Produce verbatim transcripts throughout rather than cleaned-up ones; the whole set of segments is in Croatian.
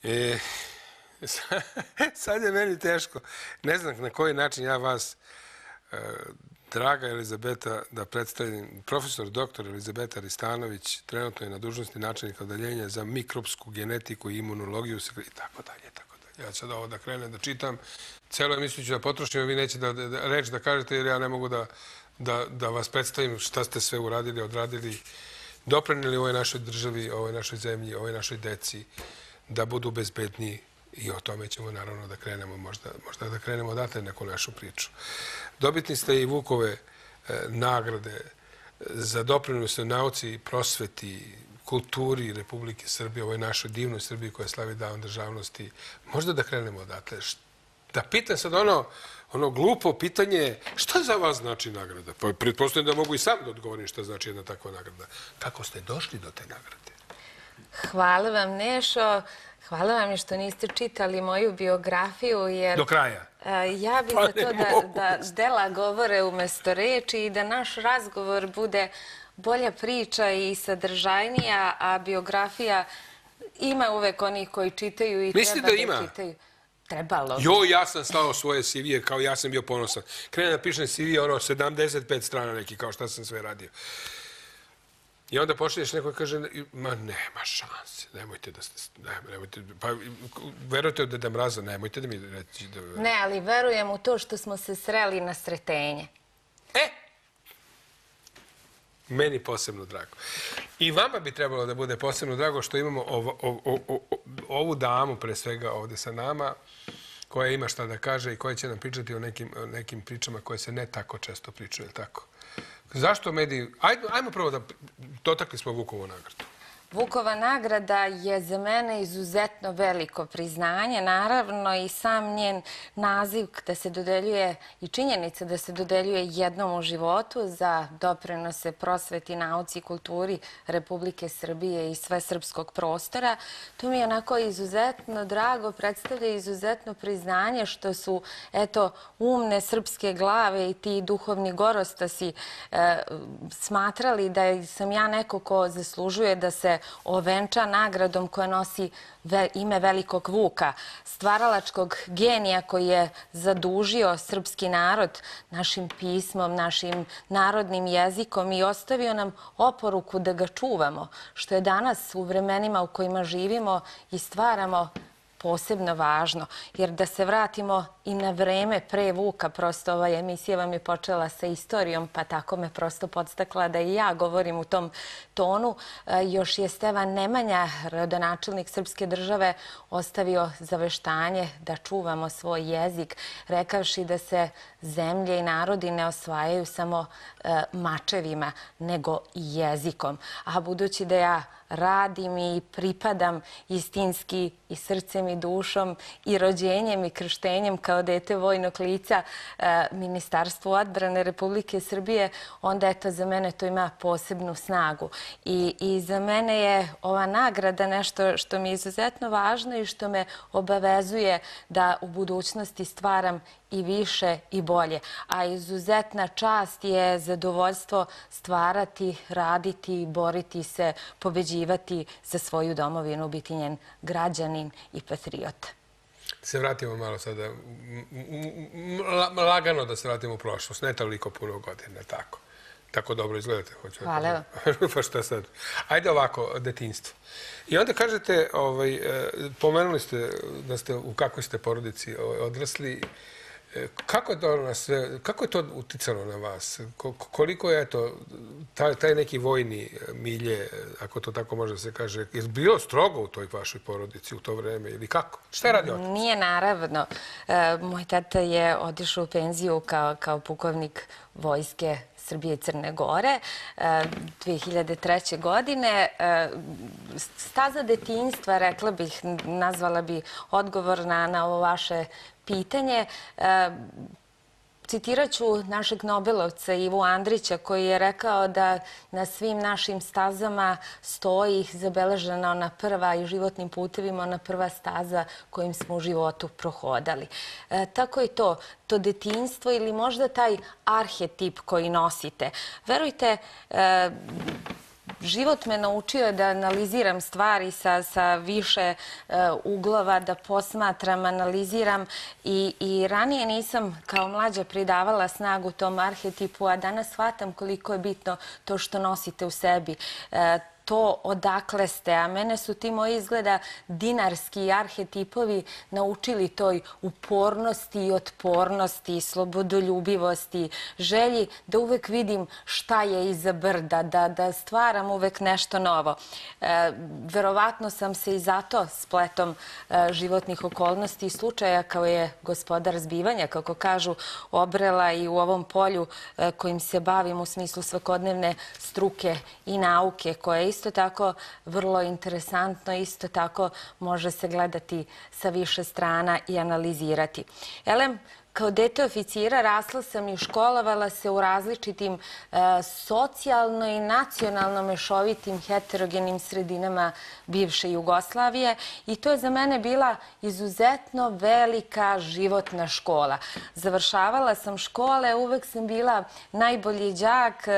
E, sad je meni teško. Ne znam na koji način ja vas, draga Elizabeta, da predstavim. Profesor doktor Elizabeta Ristanović trenutno je na dužnosti načelnika odeljenja za mikrobsku genetiku i imunologiju i tako dalje, tako dalje. Ja sad ovo da krenem da čitam, celo emisiju ću da potrošim, a vi nećete reći da kažete jer ja ne mogu da vas predstavim šta ste sve uradili, odradili, doprinijeli ovoj našoj državi, ovoj našoj zemlji, ovoj našoj deci, da budu bezbedniji. I o tome ćemo naravno da krenemo, možda da krenemo odatle neku našu priču. Dobitni ste i Vukove nagrade za doprinos nauci, prosveti, kulturi Republike Srbije, ovoj našoj divnoj Srbiji koja slavi dan državnosti. Možda da krenemo odatle. Da pitam sad ono, ono glupo pitanje, šta za vas znači nagrada? Pa pretpostavljam da mogu i sam da odgovorim šta znači jedna takva nagrada. Kako ste došli do te nagrade? Hvala vam, Nešo. Hvala vam što niste čitali moju biografiju, jer... Do kraja? Ja bih za to da dela govore umesto reči i da naš razgovor bude bolja priča i sadržajnija, a biografija ima uvek onih koji čitaju i treba da čitaju. Mislite da ima? Trebalo. Jo, ja sam slao svoje C V-e kao ja sam bio ponosan. Krenem da pišem C V, ono, sedamdeset pet strana neki, kao šta sam sve radio. I onda počneš neko i kaže, ma nema šanse, nemojte da ste, nemojte, pa verujete od Deda Mraza, nemojte da mi reći da... Ne, ali verujem u to što smo se sreli na sretenje. E! Meni posebno drago. I vama bi trebalo da bude posebno drago što imamo ovu damu, pre svega ovde sa nama, koja ima šta da kaže i koja će nam pričati o nekim pričama koje se ne tako često pričaju, ili tako? Zašto mediji... Ajmo prvo da dotakli smo Vukovu nagradu. Vukova nagrada je za mene izuzetno veliko priznanje. Naravno i sam njen naziv da se dodeljuje i činjenica da se dodeljuje jednom u životu za doprinose prosveti, nauci i kulturi Republike Srbije i sve srpskog prostora. To mi je onako izuzetno drago, predstavlja izuzetno priznanje što su, eto, umne srpske glave i ti duhovni gorostasi smatrali da sam ja neko ko zaslužuje da se ovenča nagradom koja nosi ime velikog Vuka, stvaralačkog genija koji je zadužio srpski narod našim pismom, našim narodnim jezikom i ostavio nam oporuku da ga čuvamo, što je danas u vremenima u kojima živimo i stvaramo posebno važno. Jer da se vratimo i na vreme pre Vuka, prosto ova emisija vam je počela sa istorijom, pa tako me prosto podstakla da i ja govorim u tom tonu. Još je Stevan Nemanja, rodonačelnik srpske države, ostavio zaveštanje da čuvamo svoj jezik, rekavši da se zemlje i narodi ne osvajaju samo mačevima, nego i jezikom. A budući da ja radim i pripadam istinski i srcem i dušom i rođenjem i krštenjem kao dete vojnog lica Ministarstvu odbrane Republike Srbije, onda eto za mene to ima posebnu snagu. I za mene je ova nagrada nešto što mi je izuzetno važno i što me obavezuje da u budućnosti stvaram i više i bolje. A izuzetna čast je zadovoljstvo stvarati, raditi, boriti se, pobeđivati za svoju domovinu, biti njen građanin i patriota. Se vratimo malo sada, lagano da se vratimo u prošlost, ne toliko puno godina, tako. Tako dobro izgledate. Hvala vam. Pa šta sad? Ajde ovako, detinjstvo. I onda kažete, pomenuli ste da ste u kakvoj ste porodici odrasli. Kako je to uticalo na vas? Koliko je taj neki vojni milje, ako to tako može se kaže, je bilo strogo u toj vašoj porodici u to vreme ili kako? Šta je radio otac? Nije, naravno. Moj tata je otišao u penziju kao pukovnik vojske Srbije i Crne Gore dve hiljade treće. godine. Staza detinjstva, rekla bih, nazvala bi odgovor na ovo vaše pitanje. Citirat ću našeg Nobelovca Ivu Andrića koji je rekao da na svim našim stazama stoji zabeležena ona prva i životnim putevima ona prva staza kojim smo u životu prohodali. Tako je to, to detinjstvo ili možda taj arhetip koji nosite. Verujte, život me naučio da analiziram stvari sa, sa više uh, uglova, da posmatram, analiziram i, i ranije nisam kao mlađa pridavala snagu tom arhetipu, a danas shvatam koliko je bitno to što nosite u sebi. Uh, to odakle ste, a mene su ti moji izgleda dinarski arhetipovi naučili toj upornosti i otpornosti, slobodoljubivosti, želji da uvek vidim šta je iza brda, da, da stvaram uvek nešto novo. E, verovatno sam se i zato spletom e, životnih okolnosti i slučaja kao je gospodar zbivanja, kako kažu, obrela i u ovom polju e, kojim se bavim u smislu svakodnevne struke i nauke, koje isto tako vrlo interesantno, isto tako može se gledati sa više strana i analizirati. Elem, kao dete oficira rasla sam i školovala se u različitim e, socijalno i nacionalno mešovitim heterogenim sredinama bivše Jugoslavije i to je za mene bila izuzetno velika životna škola. Završavala sam škole, uvek sam bila najbolji đak,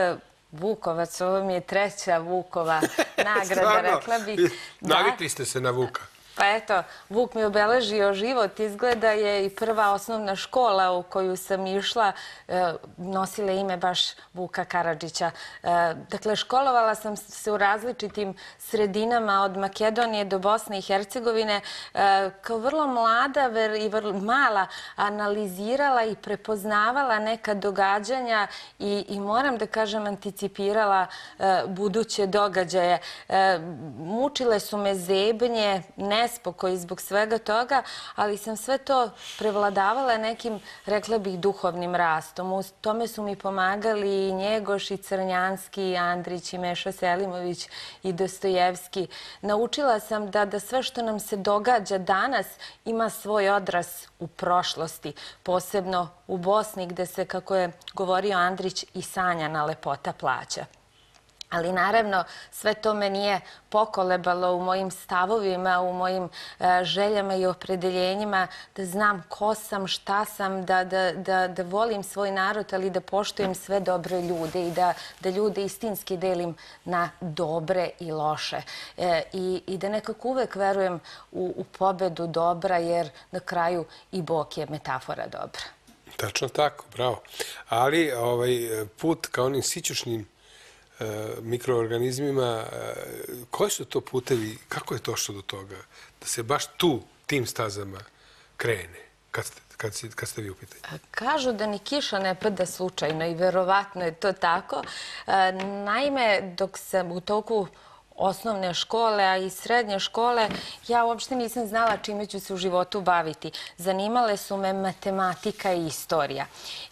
Vukovac, ovo mi je treća Vukova nagrada, rekla bih. Navikli ste se na Vuka. Pa eto, Vuk mi obeležio život. Izgleda je i prva osnovna škola u koju sam išla nosila ime baš Vuka Karadžića. Dakle, školovala sam se u različitim sredinama od Makedonije do Bosne i Hercegovine. Kao vrlo mlada i vrlo mala analizirala i prepoznavala neka događanja i, i moram da kažem anticipirala buduće događaje. Mučile su me zebnje, ne nespokoj zbog svega toga, ali sam sve to prevladavala nekim, rekla bih, duhovnim rastom. U tome su mi pomagali i Njegoš, i Crnjanski, i Andrić, i Meša Selimović, i Dostojevski. Naučila sam da, da sve što nam se događa danas ima svoj odraz u prošlosti, posebno u Bosni, gde se, kako je govorio Andrić, i sanjana lepota plaća. Ali naravno sve to me nije pokolebalo u mojim stavovima, u mojim e, željama i opredeljenjima da znam ko sam, šta sam, da, da, da, da volim svoj narod, ali da poštujem sve dobre ljude i da, da ljude istinski delim na dobre i loše. E, i, I da nekako uvek verujem u, u pobedu dobra, jer na kraju i Bog je metafora dobra. Tačno tako, bravo. Ali ovaj put ka onim sićušnim mikroorganizmima, koji su to putevi, kako je došlo do toga da se baš tu, tim stazama krene, kad ste, kad ste, kad ste vi u pitanju? Kažu da ni kiša ne pada slučajno i verovatno je to tako. Naime, dok sam u toku osnovne škole, a i srednje škole, ja uopšte nisam znala čime ću se u životu baviti. Zanimale su me matematika i istorija.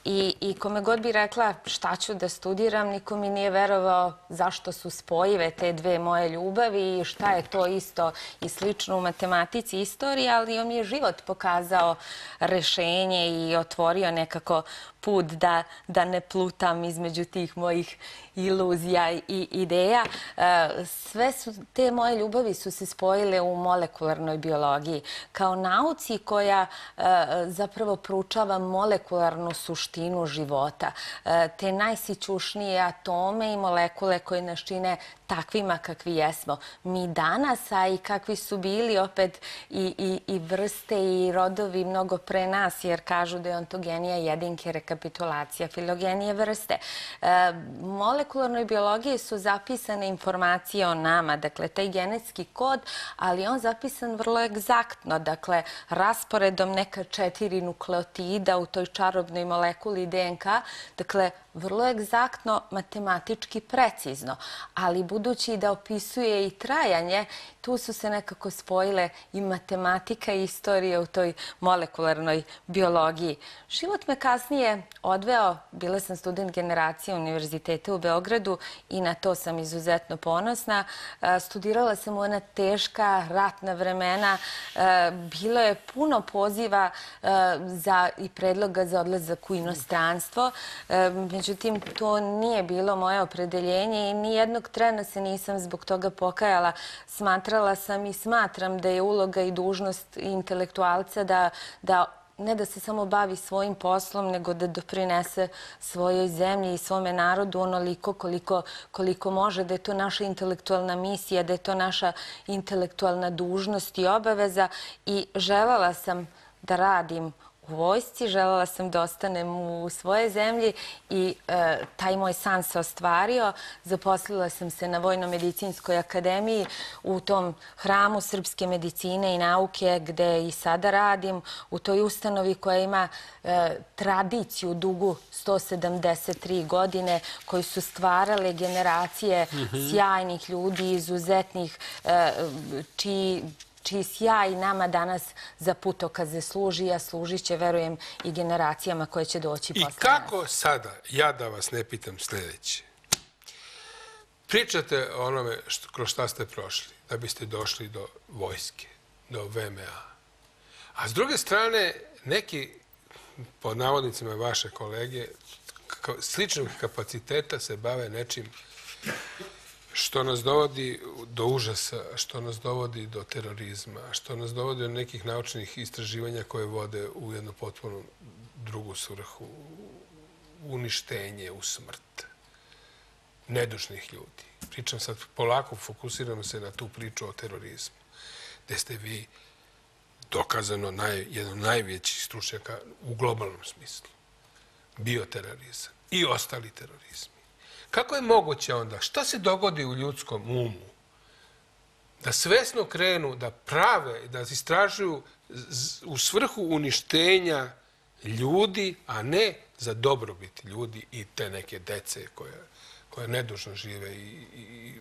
I, i kome god bi rekla šta ću da studiram, niko mi nije verovao zašto su spojive te dve moje ljubavi i šta je to isto i slično u matematici i istoriji, ali on mi je život pokazao rešenje i otvorio nekako put da, da ne plutam između tih mojih iluzija i ideja. Sve su, te moje ljubavi su se spojile u molekularnoj biologiji kao nauci koja zapravo proučava molekularnu suštinu života. Te najsićušnije atome i molekule koje nas čine takvima kakvi jesmo. Mi danas, a i kakvi su bili opet i, i, i vrste i rodovi mnogo pre nas, jer kažu da je ontogenija jedinke, rekapitulacija filogenije vrste. E, molekularnoj biologiji su zapisane informacije o nama, dakle, taj genetski kod, ali on zapisan vrlo egzaktno, dakle, rasporedom neka četiri nukleotida u toj čarobnoj molekuli D N K, dakle, vrlo egzaktno, matematički precizno, ali budući da opisuje i trajanje, tu su se nekako spojile i matematika i istorija u toj molekularnoj biologiji. Život me kasnije odveo, bila sam student generacije Univerziteta u Beogradu i na to sam izuzetno ponosna. Studirala sam u ona teška ratna vremena, bilo je puno poziva za, i predloga za odlazak u inostranstvo, međutim, to nije bilo moje opredeljenje i nijednog trena se nisam zbog toga pokajala. Smatrala sam i smatram da je uloga i dužnost intelektualca da, da ne da se samo bavi svojim poslom, nego da doprinese svojoj zemlji i svome narodu onoliko koliko, koliko može, da je to naša intelektualna misija, da je to naša intelektualna dužnost i obaveza. I želela sam da radim u vojsci, želela sam da ostanem u svojoj zemlji i e, taj moj san se ostvario. Zaposlila sam se na Vojno-medicinskoj akademiji u tom hramu srpske medicine i nauke gde i sada radim, u toj ustanovi koja ima e, tradiciju dugu sto sedamdeset tri godine, koji su stvarale generacije mm-hmm. sjajnih ljudi, izuzetnih, e, čiji čiji sjaj nama danas za putokaze služi, a služit će, verujem, i generacijama koje će doći posle nas. I kako sada, ja da vas ne pitam sljedeće, pričate o onome što, kroz šta ste prošli, da biste došli do vojske, do V M A. A s druge strane, neki, pod navodnicima vaše kolege, sličnog kapaciteta se bave nečim što nas dovodi do užasa, što nas dovodi do terorizma, što nas dovodi do nekih naučnih istraživanja koje vode u jednu potpuno drugu svrhu, uništenje, u smrt nedužnih ljudi. Pričam sad, polako fokusiramo se na tu priču o terorizmu, gde ste vi dokazano naj, jedan od najvećih stručnjaka u globalnom smislu. Bioterorizam i ostali terorizmi. Kako je moguće onda? Šta se dogodi u ljudskom umu? Da svesno krenu, da prave, da istražuju u svrhu uništenja ljudi, a ne za dobrobit ljudi i te neke dece koje, koje nedužno žive i, i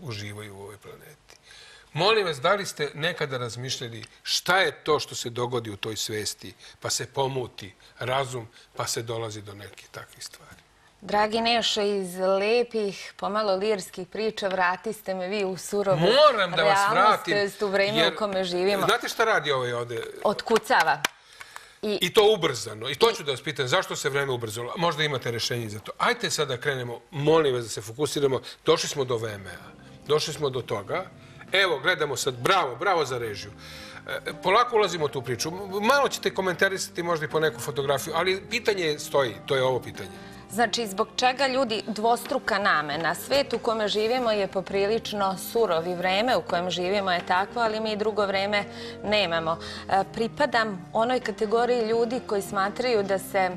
uživaju u ovoj planeti. Molim vas, da li ste nekada razmišljali šta je to što se dogodi u toj svesti, pa se pomuti razum, pa se dolazi do nekih takvih stvari? Dragi Nešo, iz lepih, pomalo lirskih priča vratiste me vi u surovu Moram da vas vratim, realnost, u vreme jer, u kome živimo. Znate šta radi ovaj ovde? Otkucava. I, I to ubrzano. I to ću da vas pitam, zašto se vreme ubrzalo? Možda imate rešenje za to. Ajde sad da krenemo, molim vas da se fokusiramo. Došli smo do V M A. Došli smo do toga. Evo, gledamo sad. Bravo, bravo za režiju. E, polako ulazimo u tu priču. Malo ćete komentarisati možda i po neku fotografiju, ali pitanje stoji. To je ovo pitanje. Znači, zbog čega ljudi dvostruka namena? Svet u kome živimo je poprilično surov i vreme u kojem živimo je takvo, ali mi i drugo vreme nemamo. E, pripadam onoj kategoriji ljudi koji smatraju da se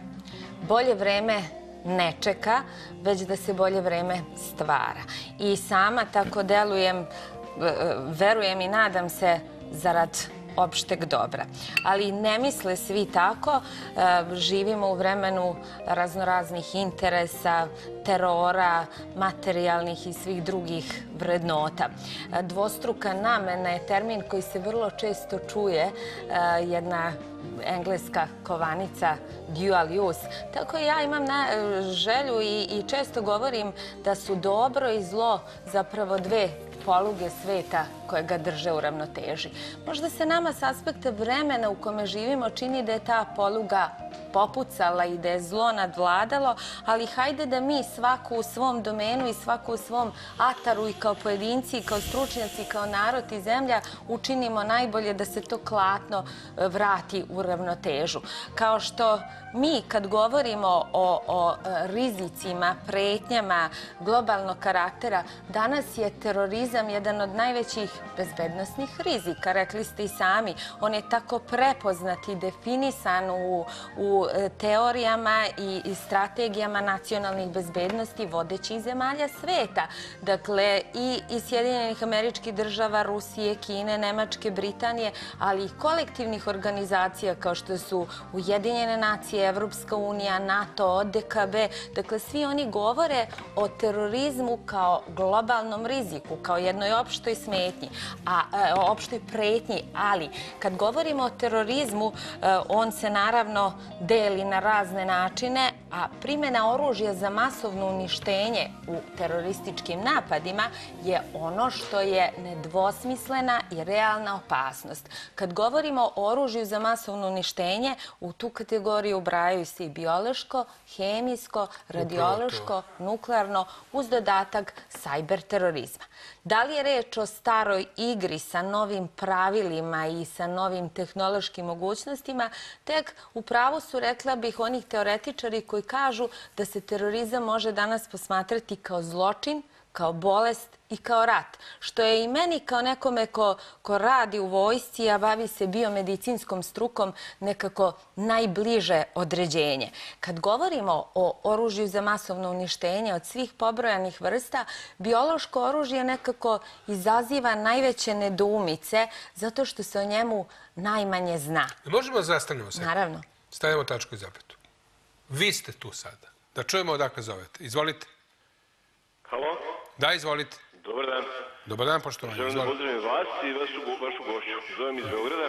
bolje vreme ne čeka, već da se bolje vreme stvara. I sama tako delujem, verujem i nadam se zarad opšteg dobra. Ali ne misle svi tako. Živimo u vremenu raznoraznih interesa, terora, materijalnih i svih drugih vrednota. Dvostruka namena je termin koji se vrlo često čuje, jedna engleska kovanica dual use. Tako ja imam na želju i, i često govorim da su dobro i zlo zapravo dve poluge sveta koje ga drže u ravnoteži. Možda se nama s aspekta vremena u kome živimo čini da je ta poluga popucala i da je zlo nadvladalo, ali hajde da mi svako u svom domenu i svako u svom ataru i kao pojedinci, i kao stručnjaci, kao narod i zemlja učinimo najbolje da se to klatno vrati u ravnotežu. Kao što mi kad govorimo o, o rizicima, pretnjama globalnog karaktera, danas je terorizam jedan od najvećih bezbednosnih rizika. Rekli ste i sami, on je tako prepoznat i definisan u, u teorijama i, i strategijama nacionalnih bezbednosti vodećih zemalja sveta. Dakle, i, i Sjedinjenih Američkih Država, Rusije, Kine, Nemačke, Britanije, ali i kolektivnih organizacija kao što su Ujedinjene nacije, Evropska unija, NATO, D K B. Dakle, svi oni govore o terorizmu kao globalnom riziku, kao jednoj opštoj smetnji, a e, opštoj pretnji. Ali, kad govorimo o terorizmu, e, on se naravno deli na razne načine, a primjena oružja za masovno uništenje u terorističkim napadima je ono što je nedvosmislena i realna opasnost. Kad govorimo o oružju za masovno uništenje, u tu kategoriju ubrajaju se i biološko, hemijsko, radiološko, nuklearno, uz dodatak sajber terorizma. Da li je reč o staroj novoj igri sa novim pravilima i sa novim tehnološkim mogućnostima, tek u pravu su, rekla bih, onih teoretičari koji kažu da se terorizam može danas posmatrati kao zločin, kao bolest i kao rat, što je i meni kao nekome ko, ko radi u vojsci, a bavi se biomedicinskom strukom, nekako najbliže određenje. Kad govorimo o oružju za masovno uništenje od svih pobrojanih vrsta, biološko oružje nekako izaziva najveće nedoumice zato što se o njemu najmanje zna. Možemo da zastanemo se? Naravno. Stavimo tačku i zapetu. Vi ste tu sada. Da čujemo odakle zovete. Izvolite. Halo? Da, izvolite. Dobar dan. Dobar dan, poštovanje. Želim da pozdravim vas i vašu, vašu gošću. Zovem iz Beograda.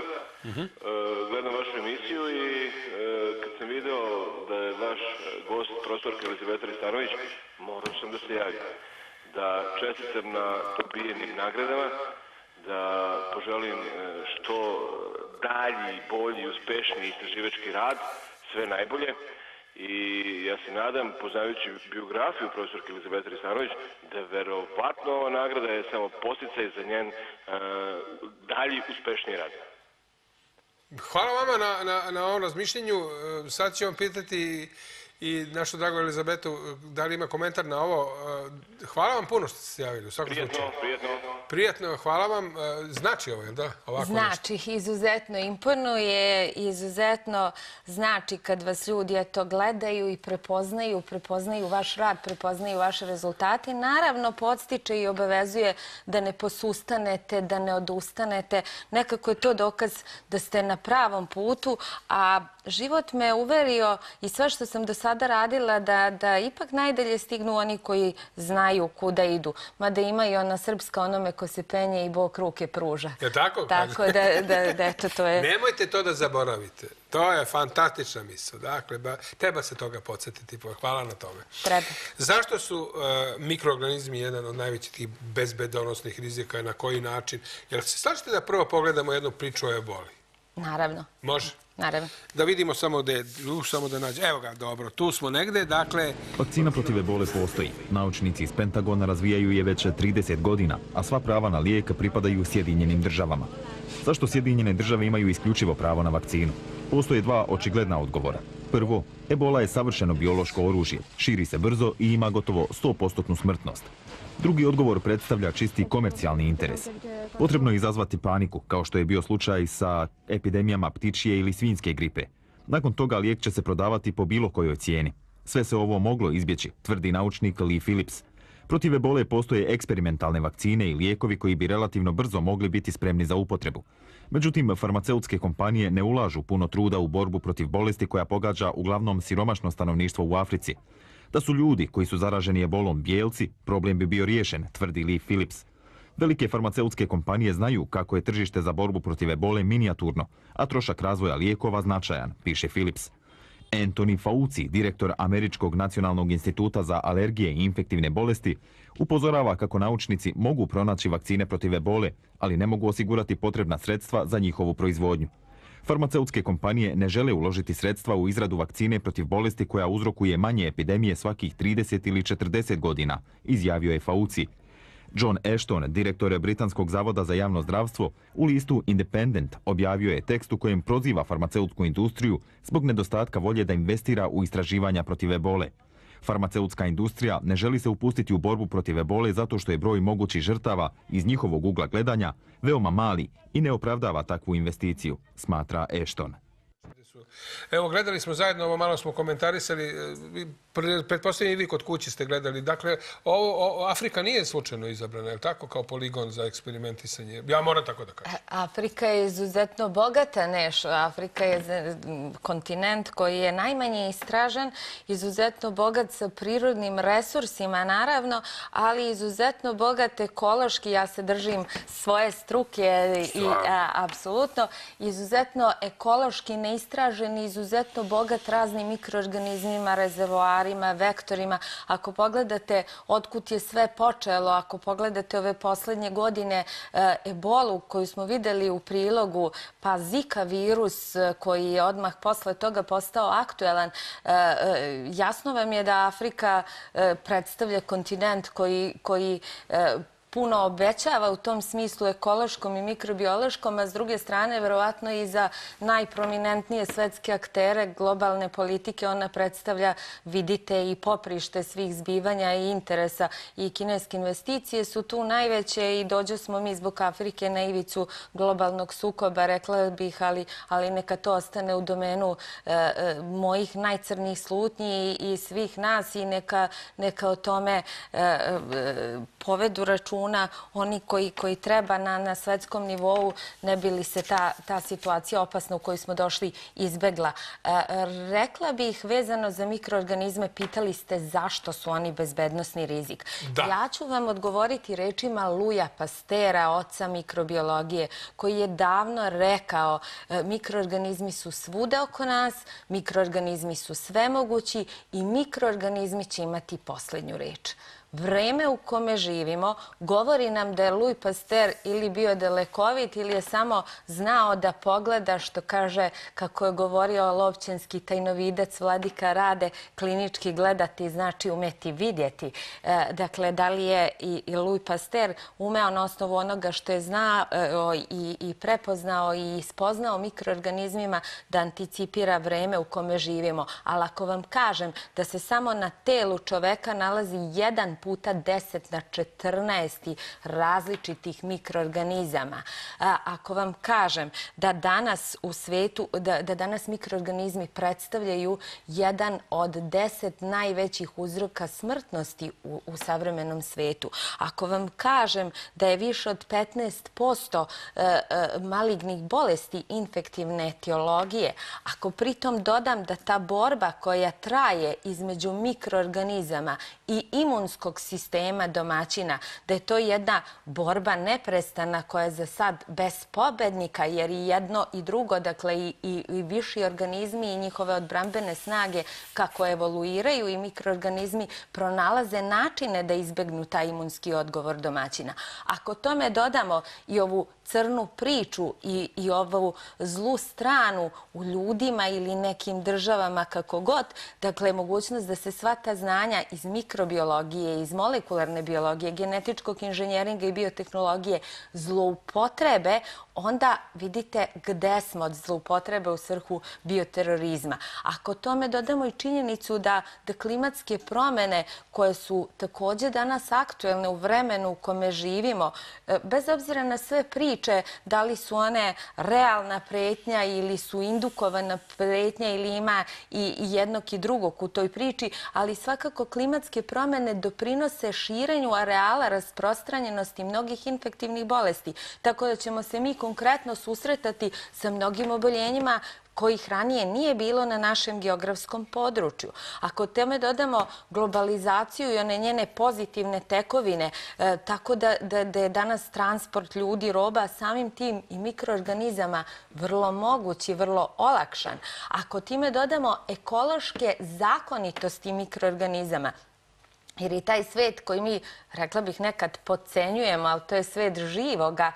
Uh-huh. uh, gledam vašu emisiju i uh, kad sam video da je vaš gost, profesorka Elizabeta Ristanović, morao sam da se javim. Da čestitam na dobijenim nagradama, da poželim uh, što dalji, bolji, uspešniji istraživački rad, sve najbolje. I ja se nadam, poznajući biografiju profesorke Elizabete Ristanović, da verovatno ova nagrada je samo posticaj za njen uh, dalji uspešniji rad. Hvala vama na, na, na ovom razmišljenju. Sad ću vam pitati i našu dragu Elizabetu da li ima komentar na ovo. Hvala vam puno što ste se javili. U svakom Prijetno, slučaju. prijetno. Prijetno, hvala vam. Znači ovo, da? Ovako znači, nešto. Izuzetno imponuje, izuzetno znači kad vas ljudi eto gledaju i prepoznaju, prepoznaju vaš rad, prepoznaju vaše rezultate. Naravno, podstiče i obavezuje da ne posustanete, da ne odustanete. Nekako je to dokaz da ste na pravom putu, a život me uverio i sve što sam do sada radila da, da ipak najdalje stignu oni koji znaju kuda idu. Mada ima i ona srpska onome ko se penje i Bog ruke pruža. Je tako? Tako da, da, da eto, to je... Nemojte to da zaboravite. To je fantastična misao. Dakle, ba, treba se toga podsjetiti. Hvala na tome. Treba. Zašto su uh, mikroorganizmi jedan od najvećih tih bezbedonosnih rizika i na koji način? Jel se slažete da prvo pogledamo jednu priču o eboli? Naravno. Može? Naravno. Da vidimo samo da je, samo da nađe. Evo ga, dobro, tu smo negde, dakle... Vakcina protiv ebole postoji. Naučnici iz Pentagona razvijaju je već trideset godina, a sva prava na lijek pripadaju Sjedinjenim državama. Zašto Sjedinjene države imaju isključivo pravo na vakcinu? Postoje dva očigledna odgovora. Prvo, ebola je savršeno biološko oružje, širi se brzo i ima gotovo sto posto smrtnost. Drugi odgovor predstavlja čisti komercijalni interes. Potrebno je izazvati paniku, kao što je bio slučaj sa epidemijama ptičje ili svinjske gripe. Nakon toga lijek će se prodavati po bilo kojoj cijeni. Sve se ovo moglo izbjeći, tvrdi naučnik Lee Phillips. Protiv ebole postoje eksperimentalne vakcine i lijekovi koji bi relativno brzo mogli biti spremni za upotrebu. Međutim, farmaceutske kompanije ne ulažu puno truda u borbu protiv bolesti koja pogađa uglavnom siromašno stanovništvo u Africi. Da su ljudi koji su zaraženi ebolom bijelci, problem bi bio riješen, tvrdi Lee Phillips. Velike farmaceutske kompanije znaju kako je tržište za borbu protiv ebole minijaturno, a trošak razvoja lijekova značajan, piše Phillips. Anthony Fauci, direktor Američkog nacionalnog instituta za alergije i infektivne bolesti, upozorava kako naučnici mogu pronaći vakcine protiv ebole, ali ne mogu osigurati potrebna sredstva za njihovu proizvodnju. Farmaceutske kompanije ne žele uložiti sredstva u izradu vakcine protiv bolesti koja uzrokuje manje epidemije svakih trideset ili četrdeset godina, izjavio je Fauci. John Ashton, direktor Britanskog zavoda za javno zdravstvo, u listu Independent objavio je tekst u kojem proziva farmaceutsku industriju zbog nedostatka volje da investira u istraživanja protiv ebole. Farmaceutska industrija ne želi se upustiti u borbu protiv ebole zato što je broj mogućih žrtava iz njihovog ugla gledanja veoma mali i ne opravdava takvu investiciju, smatra Ashton. Evo, gledali smo zajedno, ovo malo smo komentarisali, pretpostavljam i vi kod kući ste gledali. Dakle, ovo, o, Afrika nije slučajno izabrana, je li tako, kao poligon za eksperimentisanje? Ja moram tako da kažem. Afrika je izuzetno bogata nešto. Afrika je kontinent koji je najmanje istražen, izuzetno bogat sa prirodnim resursima, naravno, ali izuzetno bogat ekološki. Ja se držim svoje struke i a, apsolutno izuzetno ekološki neistražen, izuzetno bogat raznim mikroorganizmima, rezervoarima, vektorima. Ako pogledate otkud je sve počelo, ako pogledate ove poslednje godine e, ebolu koju smo videli u prilogu, pa Zika virus koji je odmah posle toga postao aktuelan, e, e, jasno vam je da Afrika e, predstavlja kontinent koji, koji e, puno obećava u tom smislu ekološkom i mikrobiološkom, a s druge strane, verovatno i za najprominentnije svetske aktere globalne politike ona predstavlja, vidite, i poprište svih zbivanja i interesa. I kineske investicije su tu najveće i dođe smo mi zbog Afrike na ivicu globalnog sukoba, rekla bih, ali, ali neka to ostane u domenu e, e, mojih najcrnijih slutnji i, i svih nas i neka, neka o tome e, e, povedu računa oni koji, koji treba na, na svetskom nivou, ne bi li se ta, ta situacija opasna u kojoj smo došli izbegla. E, rekla bih, vezano za mikroorganizme, pitali ste zašto su oni bezbednosni rizik. Da. Ja ću vam odgovoriti rečima Louisa Pasteura, oca mikrobiologije, koji je davno rekao e, mikroorganizmi su svuda oko nas, mikroorganizmi su svemogući i mikroorganizmi će imati posljednju reč. Vreme u kome živimo govori nam da je Louis Pasteur ili bio dalekovit ili je samo znao da pogleda, što kaže, kako je govorio lovćenski tajnovidac Vladika Rade, klinički gledati znači umeti vidjeti. E, dakle, da li je i, i Louis Pasteur umeo na osnovu onoga što je znao e, i, i prepoznao i ispoznao mikroorganizmima da anticipira vreme u kome živimo. Ali ako vam kažem da se samo na telu čoveka nalazi jedan puta deset na četrnaest različitih mikroorganizama. A, ako vam kažem da danas u svetu, da, da danas mikroorganizmi predstavljaju jedan od deset najvećih uzroka smrtnosti u, u savremenom svetu. Ako vam kažem da je više od petnaest posto e, e, malignih bolesti infektivne etiologije, ako pritom dodam da ta borba koja traje između mikroorganizama i imunskog sistema domaćina, da je to jedna borba neprestana koja je za sad bez pobednika, jer i jedno i drugo, dakle i, i, i viši organizmi i njihove odbrambene snage kako evoluiraju i mikroorganizmi pronalaze načine da izbegnu taj imunski odgovor domaćina. Ako tome dodamo i ovu crnu priču i, i ovu zlu stranu u ljudima ili nekim državama kako god, dakle mogućnost da se sva ta znanja iz mikrobiologije, iz molekularne biologije, genetičkog inženjeringa i biotehnologije zloupotrebe, onda vidite gde smo od zloupotrebe u svrhu bioterorizma. Ako tome dodamo i činjenicu da, da klimatske promene koje su također danas aktuelne u vremenu u kome živimo, bez obzira na sve priče, da li su one realna pretnja ili su indukovana pretnja ili ima i jednog i drugog u toj priči, ali svakako klimatske promene doprinose širenju areala rasprostranjenosti mnogih infektivnih bolesti. Tako da ćemo se mi konkretno susretati sa mnogim oboljenjima kojih ranije nije bilo na našem geografskom području. Ako tome dodamo globalizaciju i one njene pozitivne tekovine, e, tako da, da, da je danas transport ljudi, roba, samim tim i mikroorganizama vrlo mogući, vrlo olakšan. Ako time dodamo ekološke zakonitosti mikroorganizama, jer i taj svet koji mi, rekla bih, nekad podcenjujemo, ali to je svet živoga,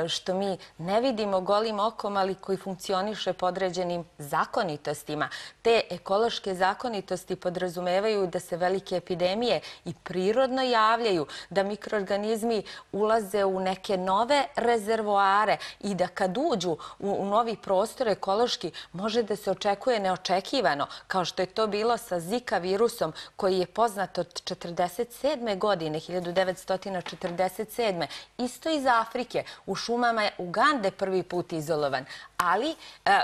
što mi ne vidimo golim okom, ali koji funkcioniše po određenim zakonitostima. Te ekološke zakonitosti podrazumevaju da se velike epidemije i prirodno javljaju, da mikroorganizmi ulaze u neke nove rezervoare i da kad uđu u, u novi prostor ekološki može da se očekuje neočekivano, kao što je to bilo sa Zika virusom koji je poznat od četrdeset sedme. godine, hiljadu devetsto četrdeset sedme. Isto iz Afrike, u šumama je Ugande prvi put izolovan. Ali e,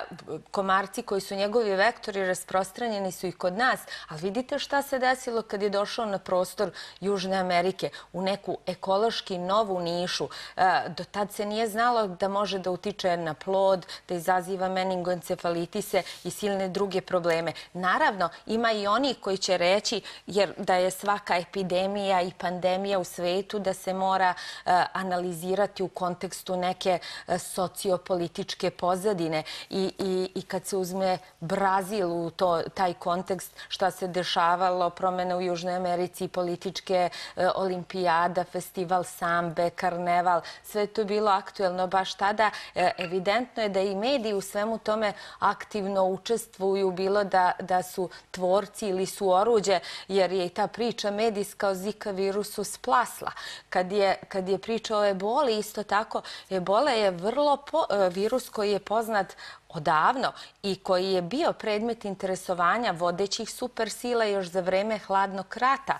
komarci koji su njegovi vektori rasprostranjeni su i kod nas. Ali vidite šta se desilo kad je došao na prostor Južne Amerike, u neku ekološki novu nišu. E, do tad se nije znalo da može da utiče na plod, da izaziva meningoencefalitise i silne druge probleme. Naravno, ima i oni koji će reći, jer da je svaka epidemija i pandemija u svetu, da se mora uh, analizirati u kontekstu neke uh, sociopolitičke pozadine pozadine i, i, i kad se uzme Brazil u to, taj kontekst šta se dešavalo, promene u Južnoj Americi, političke e, olimpijada, festival sambe, karneval, sve je to bilo aktuelno baš tada. E, evidentno je da i mediji u svemu tome aktivno učestvuju, bilo da, da su tvorci ili su oruđe, jer je i ta priča medijska o Zika virusu splasla. Kad je, kad je priča o eboli, isto tako, ebola je vrlo po, virus koji je poznat odavno i koji je bio predmet interesovanja vodećih supersila još za vreme hladnog rata.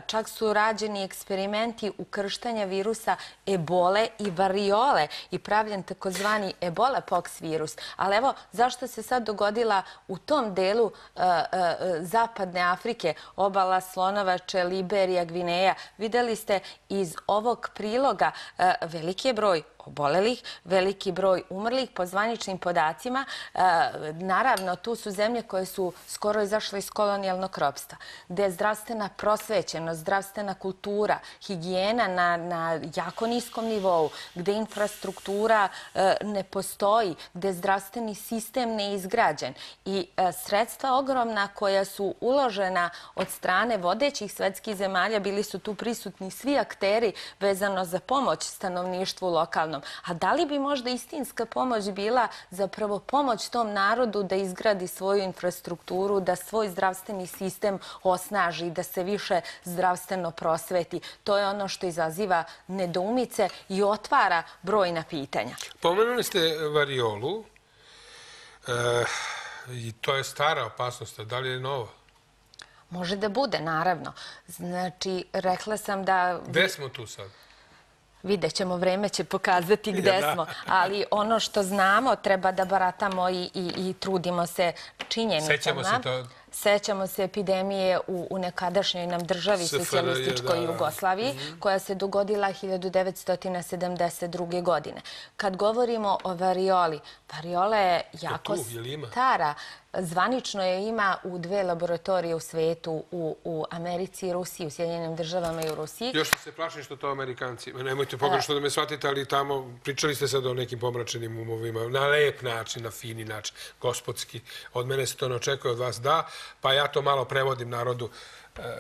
Čak su rađeni eksperimenti ukrštanja virusa ebole i variole i pravljen takozvani ebola pox virus. Ali evo, zašto se sad dogodila u tom delu uh, uh, zapadne Afrike, obala Slonovače, Liberija, Gvineja? Videli ste iz ovog priloga uh, veliki je broj obolelih, veliki broj umrlih po zvaničnim podacima. E, naravno, tu su zemlje koje su skoro izašle iz kolonijalnog ropstva, gde je zdravstvena prosvećenost, zdravstvena kultura, higijena na, na jako niskom nivou, gde infrastruktura e, ne postoji, gde je zdravstveni sistem neizgrađen. I e, sredstva ogromna koja su uložena od strane vodećih svetskih zemalja, bili su tu prisutni svi akteri vezano za pomoć stanovništvu lokalnom. A da li bi možda istinska pomoć bila zapravo pomoć tom narodu da izgradi svoju infrastrukturu, da svoj zdravstveni sistem osnaži, da se više zdravstveno prosveti? To je ono što izaziva nedoumice i otvara brojna pitanja. Pomenuli ste variolu e, i to je stara opasnost. Da li je nova? Može da bude, naravno. Znači, rekla sam da... Gde smo tu sad? Vidjet ćemo, vreme će pokazati gde smo, ali ono što znamo treba da baratamo i, i, i trudimo se činjenicama. Sećamo se to... Sećamo se epidemije u, u nekadašnjoj nam državi, socijalističkoj Jugoslaviji, koja se dogodila hiljadu devetsto sedamdeset druge. godine. Kad govorimo o varioli, variola je jako stara. Zvanično je ima u dve laboratorije u svetu, u, u Americi i Rusiji, u Sjedinjenim državama i u Rusiji. Još se plašim što to Amerikanci. Nemojte pogrešno da me shvatite, ali tamo pričali ste sad o nekim pomračenim umovima. Na lep način, na fini način, gospodski. Od mene se to ne očekuje, od vas da. Pa ja to malo prevodim narodu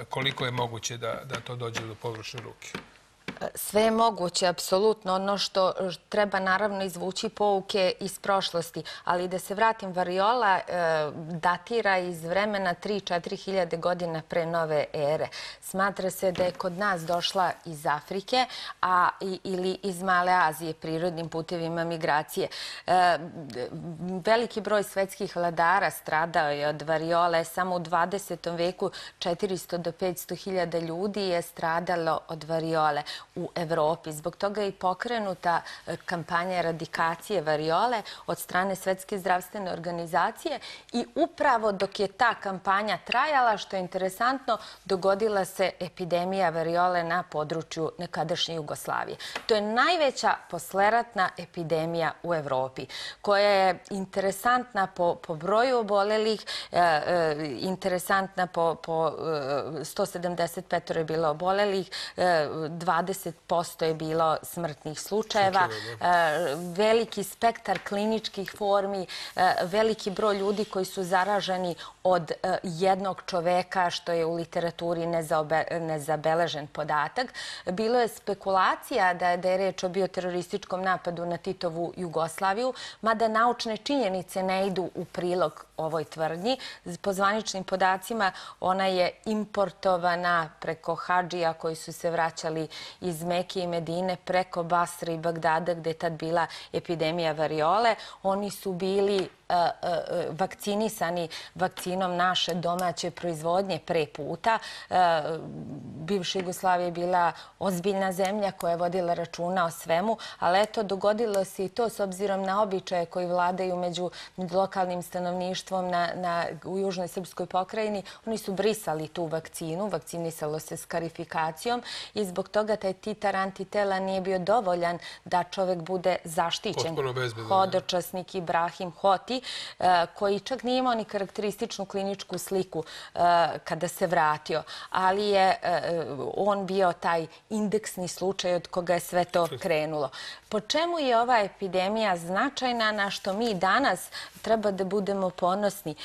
koliko je moguće da, da to dođe do pogrešne ruke. Sve je moguće, apsolutno. Ono što treba naravno izvući pouke iz prošlosti. Ali da se vratim, variola datira iz vremena tri do četiri hiljade godina pre nove ere. Smatra se da je kod nas došla iz Afrike a, ili iz Male Azije prirodnim putevima migracije. Veliki broj svetskih vladara stradao je od variole. Samo u dvadesetom veku četiristo do petsto hiljada ljudi je stradalo od variole u Evropi. Zbog toga je i pokrenuta kampanja eradikacije variole od strane Svetske zdravstvene organizacije i upravo dok je ta kampanja trajala, što je interesantno, dogodila se epidemija variole na području nekadašnje Jugoslavije. To je najveća posleratna epidemija u Evropi, koja je interesantna po, po broju obolelih, e, e, interesantna po, po e, sto sedamdeset pet je bilo obolelih, e, dvadeset posto je bilo smrtnih slučajeva, veliki spektar kliničkih formi, veliki broj ljudi koji su zaraženi od jednog čoveka, što je u literaturi nezabeležen podatak. Bilo je spekulacija da je, da je reč o bioterorističkom napadu na Titovu Jugoslaviju, mada naučne činjenice ne idu u prilog ovoj tvrdnji. Po zvaničnim podacima ona je importovana preko hadžija koji su se vraćali iz Mekije i Medine preko Basre i Bagdada, gde je tad bila epidemija variole. Oni su bili vakcinisani vakcinom naše domaće proizvodnje pre puta. Bivša Jugoslavija je bila ozbiljna zemlja koja je vodila računa o svemu, ali eto, dogodilo se i to s obzirom na običaje koji vladaju među, među lokalnim stanovništvom na, na, u Južnoj Srpskoj pokrajini. Oni su brisali tu vakcinu, vakcinisalo se skarifikacijom i zbog toga taj titar antitela nije bio dovoljan da čovek bude zaštićen. Hodočasnik Ibrahim Hoti Evropi, koji čak nije imao ni karakterističnu kliničku sliku kada se vratio, ali je on bio taj indeksni slučaj od koga je sve to krenulo. Po čemu je ova epidemija značajna, na što mi danas treba da budemo ponosni?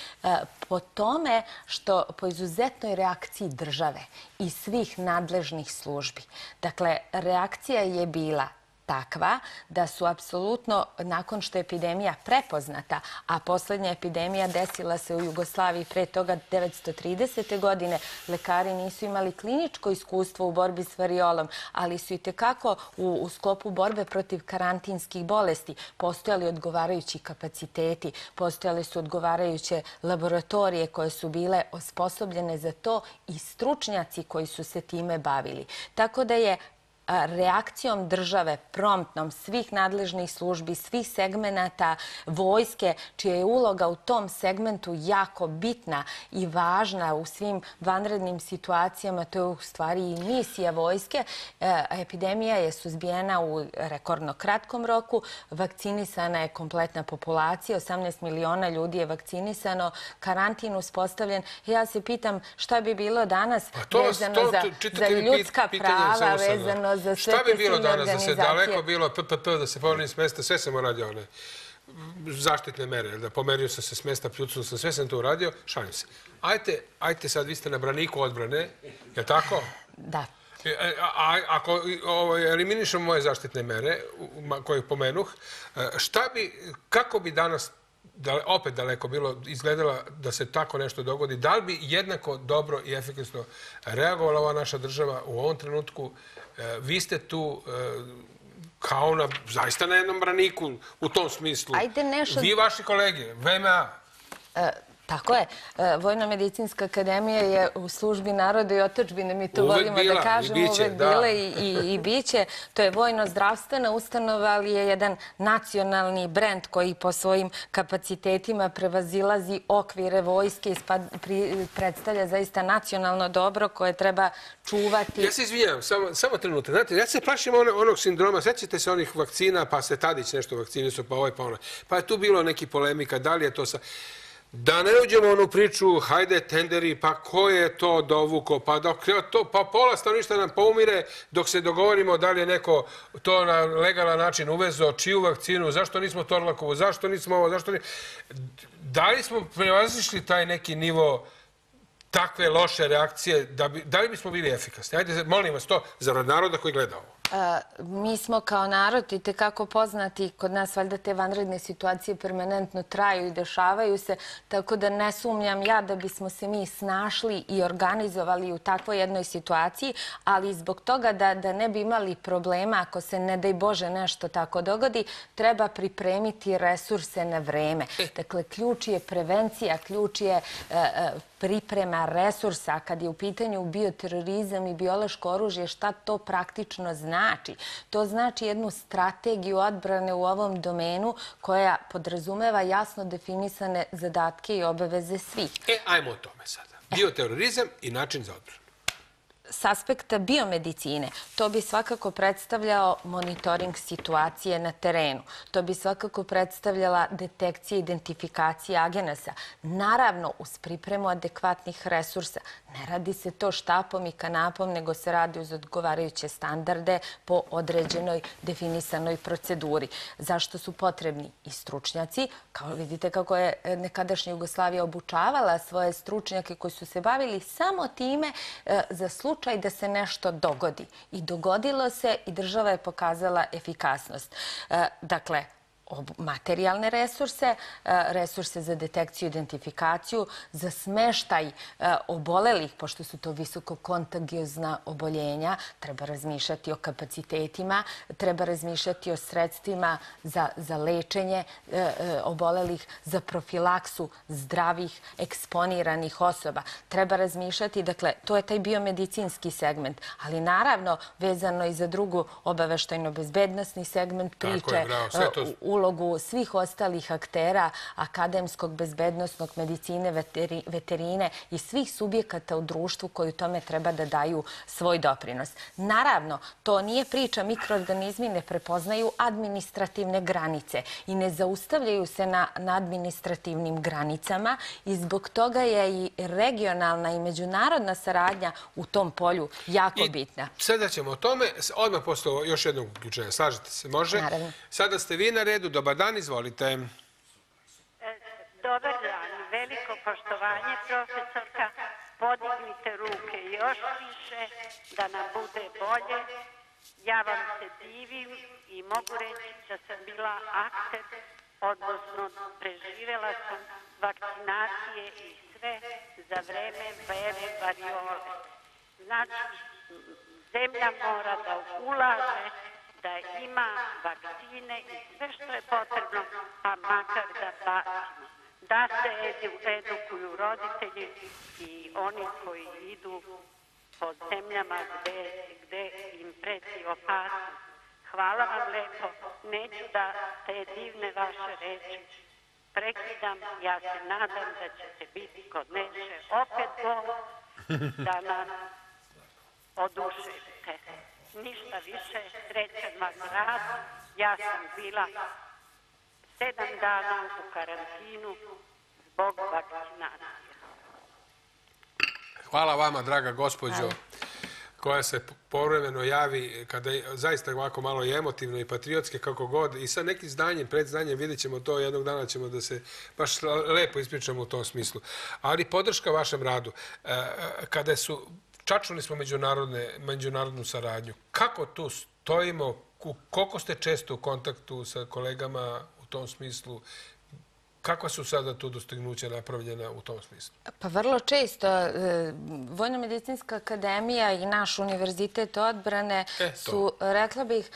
Po tome što po izuzetnoj reakciji države i svih nadležnih službi. Dakle, reakcija je bila takva da su apsolutno, nakon što je epidemija prepoznata, a poslednja epidemija desila se u Jugoslaviji pre toga devetsto tridesete. godine, lekari nisu imali kliničko iskustvo u borbi s variolom, ali su i tekako u, u sklopu borbe protiv karantinskih bolesti postojali odgovarajući kapaciteti, postojale su odgovarajuće laboratorije koje su bile osposobljene za to i stručnjaci koji su se time bavili. Tako da je reakcijom države, promptnom, svih nadležnih službi, svih segmenata vojske, čija je uloga u tom segmentu jako bitna i važna u svim vanrednim situacijama, to je u stvari i misija vojske. Epidemija je suzbijena u rekordno kratkom roku, vakcinisana je kompletna populacija, osamnaest miliona ljudi je vakcinisano, karantin uspostavljen. Ja se pitam šta bi bilo danas vezano za ljudska prava, vezano za sve šta bi bilo danas da se organizacije. daleko bilo P P P, da se pomerim s mesta, sve sam uradio one zaštitne mere, da pomerio sam se s mesta, pljucnuo sam, sve sam to uradio, šalim se. Ajte, ajte sad, vi ste na braniku odbrane, je tako? Da. A ako eliminišemo moje zaštitne mere, koje pomenuh, šta bi, kako bi danas opet daleko bilo izgledala da se tako nešto dogodi, da li bi jednako dobro i efikasno reagovala ova naša država u ovom trenutku? Vi ste tu kao na, zaista na jednom braniku u tom smislu. Vi i vaši kolege, V M A. Tako je. Vojno-medicinska akademija je u službi naroda i otadžbine, mi to volimo da kažemo, uvek bila i biće. To je vojno-zdravstvena ustanova, ali je jedan nacionalni brend koji po svojim kapacitetima prevazilazi okvire vojske i predstavlja zaista nacionalno dobro koje treba čuvati. Ja se izvinjam, samo trenutak. Znate, ja se plašim onog sindroma, sećate se onih vakcina, pa se Tadić nešto vakcinisu, pa ovaj, pa onaj. Pa je tu bilo neki polemika, da li je to sa... Da ne uđemo u onu priču, hajde tenderi, pa ko je to dovuko, pa pola stanovništva nam poumire dok se dogovorimo da li je neko to na legalan način uvezo, čiju vakcinu, zašto nismo Torlakovu, zašto nismo ovo, zašto nismo... Da li smo prevazišli taj neki nivo takve loše reakcije, da li bismo bili efikasni? Hajde, molim vas to, zarad naroda koji gleda ovo. Mi smo kao narod i tekako poznati, kod nas valjda te vanredne situacije permanentno traju i dešavaju se, tako da ne sumnjam ja da bismo se mi snašli i organizovali u takvoj jednoj situaciji, ali zbog toga da ne bi imali problema ako se ne daj Bože nešto tako dogodi, treba pripremiti resurse na vreme. Dakle, ključ je prevencija, ključ je priprema resursa. Kad je u pitanju bioterorizam i biološko oružje, šta to praktično znači? To znači jednu strategiju odbrane u ovom domenu koja podrazumeva jasno definisane zadatke i obaveze svih. E, ajmo o tome sada. Bioterorizam i način za odbranu. S aspekta biomedicine, to bi svakako predstavljao monitoring situacije na terenu. To bi svakako predstavljala detekcija i identifikacija agenasa. Naravno, uz pripremu adekvatnih resursa. Ne radi se to štapom i kanapom, nego se radi uz odgovarajuće standarde po određenoj definisanoj proceduri. Zašto su potrebni i stručnjaci? Kao vidite kako je nekadašnja Jugoslavija obučavala svoje stručnjake koji su se bavili samo time za slučaj da se nešto dogodi. I dogodilo se i država je pokazala efikasnost. Dakle, materijalne resurse, resurse za detekciju i identifikaciju, za smeštaj obolelih, pošto su to visokokontagiozna oboljenja, treba razmišljati o kapacitetima, treba razmišljati o sredstvima za lečenje obolelih, za profilaksu zdravih, eksponiranih osoba. Treba razmišljati, dakle, to je taj biomedicinski segment, ali naravno vezano i za drugu obaveštajno-bezbednostni segment priče, uloga ulogu svih ostalih aktera akademskog, bezbednosnog, medicine, veterine i svih subjekata u društvu koji tome treba da daju svoj doprinos. Naravno, to nije priča, mikroorganizmi ne prepoznaju administrativne granice i ne zaustavljaju se na, na administrativnim granicama i zbog toga je i regionalna i međunarodna saradnja u tom polju jako bitna. I sada ćemo o tome, odmah posle još jednog uključenja. Slažete se, može? Naravno. Sada ste vi na redu. Dobar dan, izvolite. Dobar dan, veliko poštovanje, profesorka. Podignite ruke još više da nam bude bolje. Ja vam se divim i mogu reći da sam bila akter, odnosno preživjela sam vakcinacije i sve za vreme vere variole. Znači, zemlja mora da ulaže, da ima vakcine i sve što je potrebno, pa makar da bacimo. Da se edukuju roditelji i oni koji idu po zemljama gde im preti opasnost. Hvala vam lepo. Neću da te divne vaše reči prekidam. Ja se nadam da ćete biti kod Neše opet bol, da nas oduševite. Ništa više, srećan vam rad. Ja sam bila sedam dana u karantinu zbog vakcinacije. Hvala vama, draga gospođo, koja se povremeno javi kada je zaista ovako malo i emotivno i patriotske kako god i sa nekim znanjem, predznanjem, vidjet ćemo to, jednog dana ćemo da se baš lepo ispričamo u tom smislu. Ali podrška vašem radu, kada su, čačuli smo međunarodnu saradnju, kako tu stojimo, koliko ste često u kontaktu sa kolegama u tom smislu? Kakva su sada tu dostignuća napravljena u tom smislu? Pa vrlo često. Vojno-medicinska akademija i naš univerzitet odbrane su, rekla bih,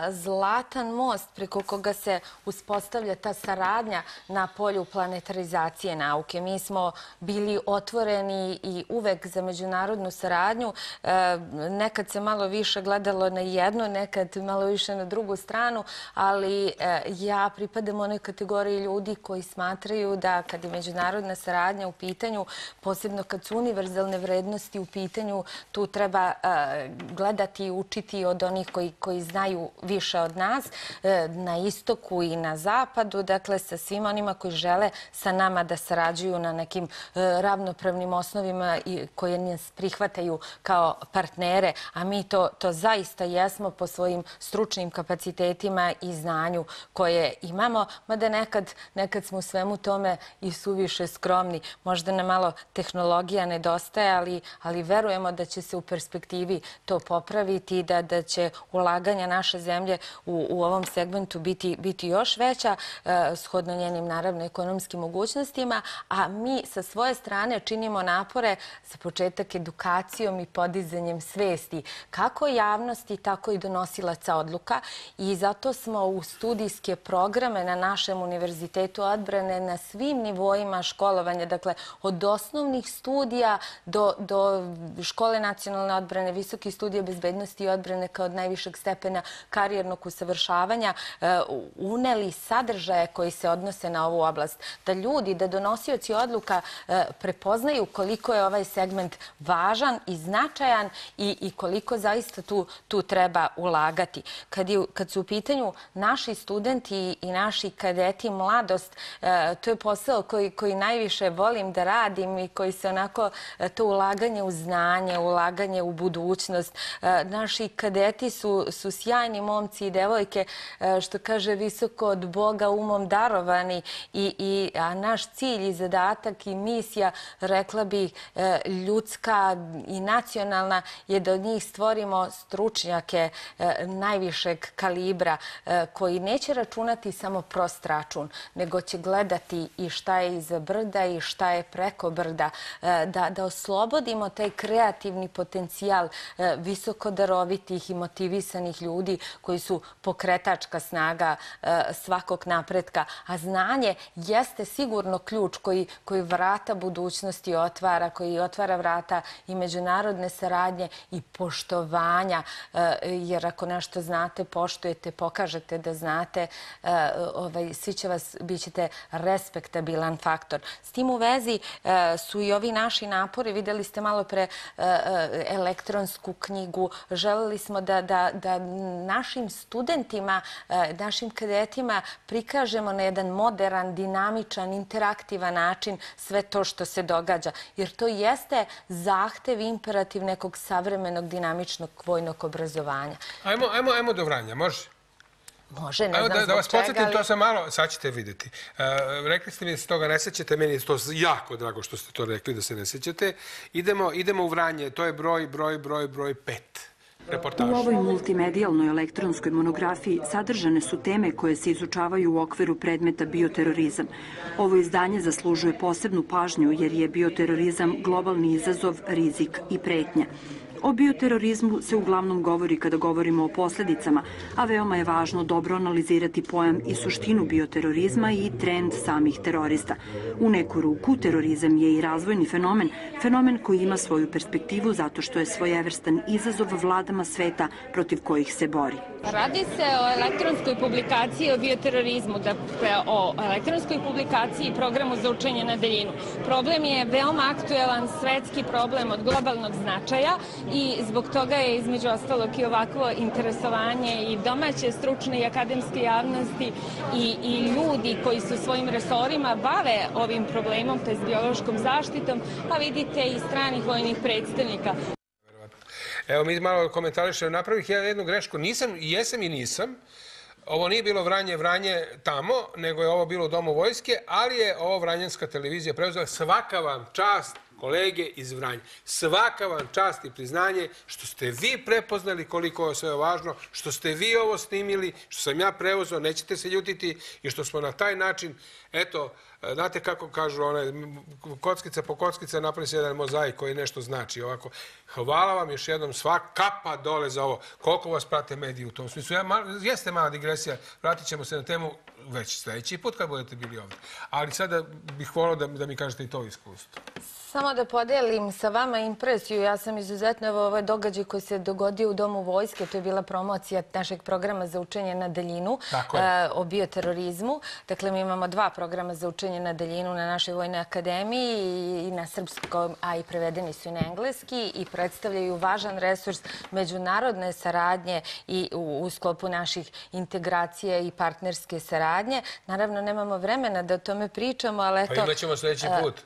zlatan most preko koga se uspostavlja ta saradnja na polju planetarizacije nauke. Mi smo bili otvoreni i uvek za međunarodnu saradnju. Nekad se malo više gledalo na jednu, nekad malo više na drugu stranu, ali ja pripadam onoj kategoriji ljudi koji smatraju da kad je međunarodna saradnja u pitanju, posebno kad su univerzalne vrednosti u pitanju, tu treba gledati i učiti od onih koji znaju više od nas, na istoku i na zapadu, dakle sa svim onima koji žele sa nama da sarađuju na nekim ravnopravnim osnovima koje nas prihvataju kao partnere, a mi to zaista jesmo po svojim stručnim kapacitetima i znanju koje imamo, mada nekad smo u svemu tome i suviše skromni. Možda nam malo tehnologija nedostaje, ali verujemo da će se u perspektivi to popraviti i da će ulaganja naše zemlje u ovom segmentu biti još veća, shodno njenim, naravno, ekonomskim mogućnostima, a mi sa svoje strane činimo napore za početak edukacijom i podizanjem svesti kako javnosti, tako i donosilaca odluka i zato smo u studijske programe na našem univerzitetu odbrane na svim nivoima školovanja, dakle od osnovnih studija do škole nacionalne odbrane, visokih studija bezbednosti i odbrane kao od najvišeg stepena karijernog usavršavanja, uneli sadržaje koji se odnose na ovu oblast. Da ljudi, da donosioci odluka prepoznaju koliko je ovaj segment važan i značajan i koliko zaista tu treba ulagati. Kad su u pitanju naši studenti i naši kadeti, mladost, to je posao koji najviše volim da radim i koji se onako, to ulaganje u znanje, ulaganje u budućnost. Naši kadeti su sjajni momci i devojke, što kaže visoko od Boga umom darovani, a naš cilj i zadatak i misija, rekla bih, ljudska i nacionalna, je da od njih stvorimo stručnjake najvišeg kalibra koji neće računati samo prost račun, nego će gledati gledati i šta je iza brda i šta je preko brda, da, da oslobodimo taj kreativni potencijal visoko darovitih i motivisanih ljudi koji su pokretačka snaga svakog napretka. A znanje jeste sigurno ključ koji, koji vrata budućnosti otvara, koji otvara vrata i međunarodne saradnje i poštovanja, jer ako nešto znate, poštujete, pokažete da znate, ovaj, svi će vas, bit ćete respektabilan faktor. S tim u vezi su i ovi naši napori, vidjeli ste malo pre elektronsku knjigu, želeli smo da, da, da našim studentima, našim kadetima prikažemo na jedan moderan, dinamičan, interaktivan način sve to što se događa. Jer to jeste zahtev, imperativ nekog savremenog, dinamičnog vojnog obrazovanja. Ajmo, ajmo, ajmo do Vranja, može? Može, ne znam da, zbog da vas čega, podsjetim, ali... to sam malo, sad ćete vidjeti. Uh, rekli ste mi da se toga ne sećate, meni je to jako drago što ste to rekli, da se ne sećate. Idemo, idemo u Vranje, to je broj, broj, broj, broj pet. Reportaž. U ovoj multimedijalnoj elektronskoj monografiji sadržane su teme koje se izučavaju u okviru predmeta bioterorizam. Ovo izdanje zaslužuje posebnu pažnju jer je bioterorizam globalni izazov, rizik i pretnja. O bioterorizmu se uglavnom govori kada govorimo o posljedicama, a veoma je važno dobro analizirati pojam i suštinu bioterorizma i trend samih terorista. U neku ruku, terorizam je i razvojni fenomen, fenomen koji ima svoju perspektivu zato što je svojevrstan izazov vladama sveta protiv kojih se bori. Radi se o elektronskoj publikaciji o bioterorizmu, dakle o elektronskoj publikaciji i programu za učenje na daljinu. Problem je veoma aktuelan svetski problem od globalnog značaja i zbog toga je između ostalog i ovakvo interesovanje i domaće stručne i akademske javnosti i, i ljudi koji su svojim resorima bave ovim problemom, to je biološkom zaštitom, pa vidite i stranih vojnih predstavnika. Evo mi malo komentarišemo, napravih ja jednu grešku, nisam, jesam i nisam. Ovo nije bilo Vranje, Vranje tamo, nego je ovo bilo u Domu vojske, ali je ovo Vranjanska televizija preuzela. Svaka vam čast, kolege iz Vranja. Svaka vam čast i priznanje što ste vi prepoznali koliko je sve važno, što ste vi ovo snimili, što sam ja preuzeo, nećete se ljutiti i što smo na taj način, eto, znate kako kažu, one, kockica po kockica napravi se jedan mozaik koji nešto znači. Ovako, hvala vam još jednom, svak kapa dole za ovo. Koliko vas prate mediji u tom smislu? Ja, jeste mala digresija, vratit ćemo se na temu već sljedeći put kad budete bili ovdje. Ali sada bih volio da, da mi kažete i to iskustvo. Samo da podelim sa vama impresiju. Ja sam izuzetno, evo ovaj događaj koji se dogodio u Domu vojske, to je bila promocija našeg programa za učenje na daljinu o bioterorizmu. Dakle, mi imamo dva programa za učenje na daljinu na našoj Vojnoj akademiji i na srpskom, a i prevedeni su i na engleski i predstavljaju važan resurs međunarodne saradnje i u, u sklopu naših integracija i partnerske saradnje. Naravno, nemamo vremena da o tome pričamo, ali eto... Pa imat ćemo sljedeći put.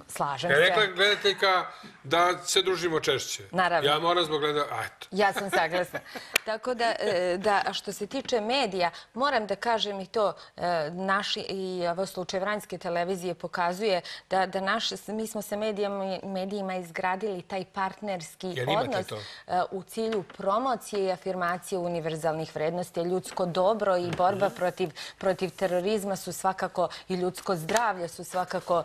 Slažem se. Ja rekla gledateljka da se družimo češće. Naravno. Ja moram zbog gleda... Eto. Ja sam saglasna. Tako da, da, što se tiče medija, moram da kažem i to, naši, i ovo slučaj Vranjske televizije pokazuje da, da naš, mi smo sa medijama, medijima izgradili taj partnerski odnos u cilju promocije i afirmacije univerzalnih vrednosti. Ljudsko dobro i borba protiv, protiv terorizma su svakako, i ljudsko zdravlje su svakako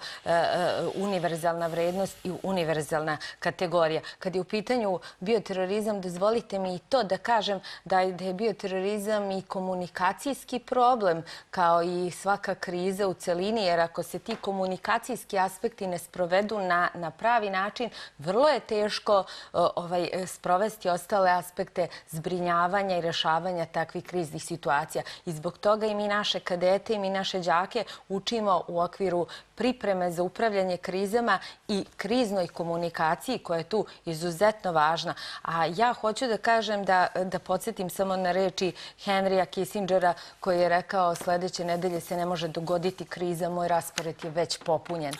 univerzalna vrednost i univerzalna kategorija. Kad je u pitanju bioterorizam, dozvolite mi i to da kažem da je bioterorizam i komunikacijski problem, kao i svaka kriza u celini, jer ako se ti komunikacijski aspekti ne sprovedu na, na pravi način, vrlo je teško ovaj, sprovesti ostale aspekte zbrinjavanja i rešavanja takvih kriznih situacija. I zbog toga i mi naše kadete i mi naše đake učimo u okviru pripreme za upravljanje krizama i kriznoj komunikaciji koja je tu izuzetno važna. A ja hoću da kažem, da, da podsjetim samo na reči Henrya Kissingera koji je rekao sljedeće nedelje se ne može dogoditi kriza, moj raspored je već popunjen.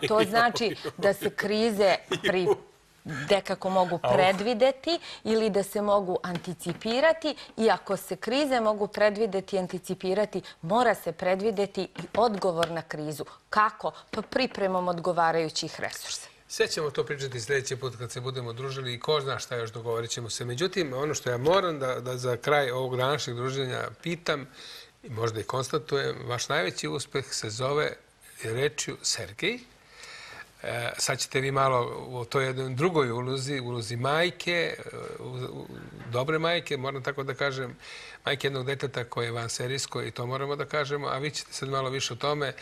To znači da se krize pri dekako mogu predvideti ili da se mogu anticipirati i ako se krize mogu predvideti i anticipirati, mora se predvideti i odgovor na krizu. Kako? Pa pripremom odgovarajućih resursa. Sve ćemo to pričati sljedeći put kad se budemo družili i ko zna šta još dogovorit ćemo se. Međutim, ono što ja moram da, da za kraj ovog današnjeg druženja pitam i možda i konstatujem, vaš najveći uspeh se zove rečju Sergej. Sad ćete vi malo u toj jednoj drugoj ulozi, ulozi majke, dobre majke, moram tako da kažem, majke jednog deteta koje je vanserijsko i to moramo da kažemo, a vi ćete sad malo više o tome.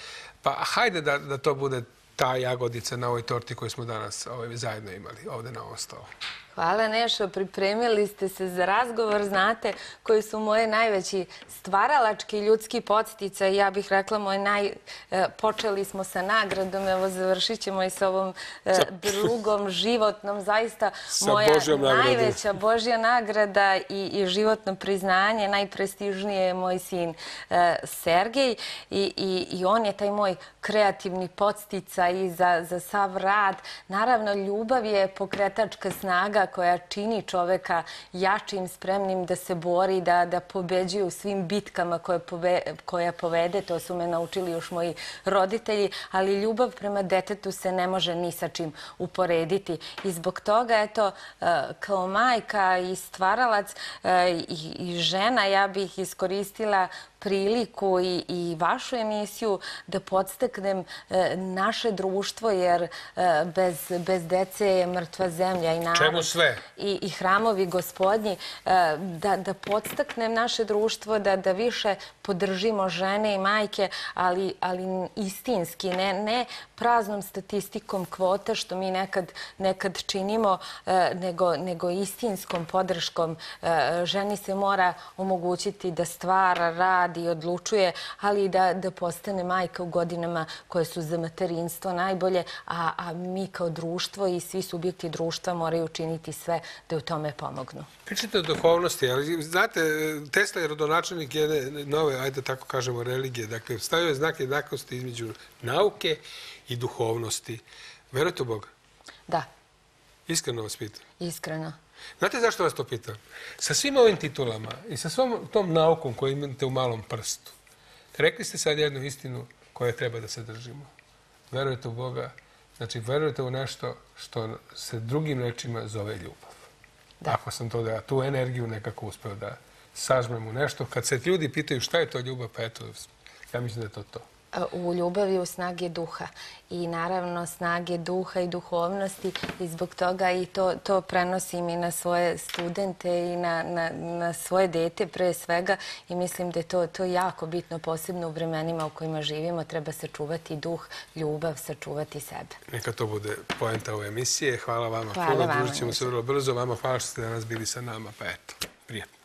Pa hajde da, da to bude ta jagodica na ovoj torti koju smo danas ovaj, zajedno imali ovde na ovom stolu. Hvala Nešo, pripremili ste se za razgovor, znate koji su moje najveći stvaralački ljudski podsticaj. Ja bih rekla, moj naj... počeli smo sa nagradom, evo završit ćemo i sa ovom drugom životnom, zaista moja najveća Božja nagrada i, i životno priznanje, najprestižnije je moj sin Sergej i, i, i on je taj moj kreativni podsticaj za, za sav rad. Naravno, ljubav je pokretačka snaga koja čini čoveka jačim, spremnim da se bori, da, da pobeđuje u svim bitkama koje, pove, koje povede. To su me naučili još moji roditelji, ali ljubav prema detetu se ne može ni sa čim uporediti. I zbog toga, eto, kao majka i stvaralac i, i žena, ja bih iskoristila priliku i, i vašu emisiju da podstaknem e, naše društvo, jer e, bez, bez dece je mrtva zemlja i narod. Čemu sve? I, i hramovi gospodnji. E, da, da podstaknem naše društvo da, da više podržimo žene i majke, ali, ali istinski, ne, ne praznom statistikom kvota, što mi nekad, nekad činimo, e, nego, nego istinskom podrškom. E, ženi se mora omogućiti da stvara, radi i odlučuje, ali i da, da postane majka u godinama koje su za materinstvo najbolje, a, a mi kao društvo i svi subjekti društva moraju učiniti sve da u tome pomognu. Pričate o duhovnosti, ali znate, Tesla je rodonačelnik jedne nove, ajde tako kažemo, religije. Dakle, stavio je znak jednakosti između nauke i duhovnosti. Verujete u Boga? Da. Iskreno vas pitam. Iskreno. Znate zašto vas to pitam? Sa svim ovim titulama i sa svom tom naukom koju imate u malom prstu, rekli ste sad jednu istinu koju treba da se držimo. Verujete u Boga, znači verujete u nešto što se drugim rečima zove ljubav. Da. Ako sam to da ja tu energiju nekako uspeo da sažmem u nešto, kad se ljudi pitaju šta je to ljubav, pa eto, ja mislim da je to to. U ljubavi u snage duha i naravno snage duha i duhovnosti i zbog toga i to, to prenosim i na svoje studente i na, na, na svoje dete pre svega i mislim da je to, to jako bitno, posebno u vremenima u kojima živimo. Treba sačuvati duh, ljubav, sačuvati sebe. Neka to bude poenta ove emisije. Hvala vama. Hvala vama. Družit ćemo se vrlo brzo. Vama hvala što ste danas bili sa nama. Pa eto, prijatno.